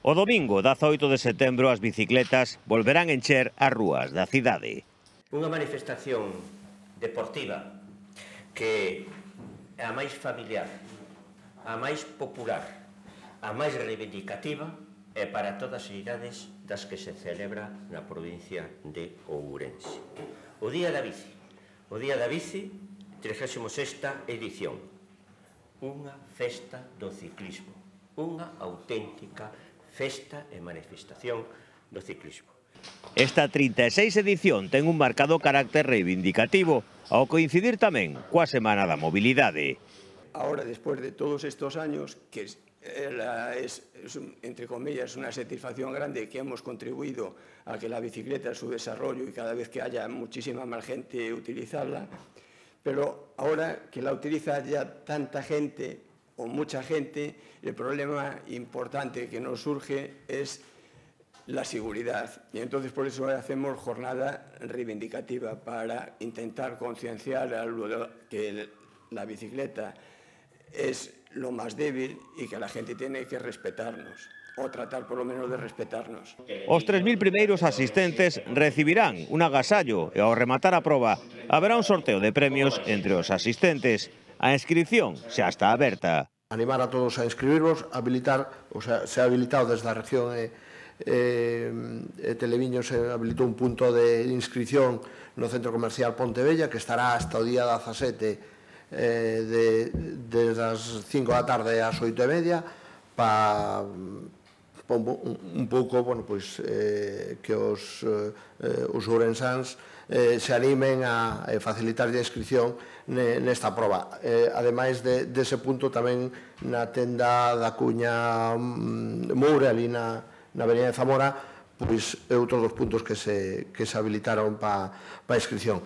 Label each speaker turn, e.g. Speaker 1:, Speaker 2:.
Speaker 1: O domingo, 18 de setembro, as bicicletas volverán encher as rúas da cidade.
Speaker 2: Unha manifestación deportiva que é a máis familiar, a máis popular, a máis reivindicativa e para todas as idades das que se celebra na provincia de Ourense. O Día da Bici, 36ª edición, unha festa do ciclismo, unha auténtica festa e manifestación do ciclismo.
Speaker 1: Esta 36 edición ten un marcado carácter reivindicativo, ao coincidir tamén coa Semana da Mobilidade.
Speaker 3: Ahora, después de todos estos años, que es, entre comillas, una satisfacción grande que hemos contribuido a que la bicicleta, su desarrollo y cada vez que haya muchísima más gente utilizarla, pero ahora que la utiliza ya tanta gente o mucha gente, el problema importante que nos surge es la seguridad. Y entonces por eso hacemos jornada reivindicativa para intentar concienciar a que la bicicleta es lo más débil y que la gente tiene que respetarnos, o tratar por lo menos de respetarnos.
Speaker 1: Os 3.000 primeiros asistentes recibirán un agasallo e ao rematar a proba haberá un sorteo de premios entre os asistentes. A inscripción xa está aberta.
Speaker 4: Animar a todos a inscribirvos, habilitar, o sea, se ha habilitado desde a región Televiño, se habilitou un punto de inscripción no Centro Comercial Pontevella que estará hasta o día 17 desde as 5 da tarde ás 8:30 para un pouco, bueno, pois, que os ourensáns se animen a facilitar a inscripción nesta proba. Ademais dese punto, tamén na tenda da Cuña Moure, ali na Avenida de Zamora, pois é outro dos puntos que se habilitaron para a inscripción.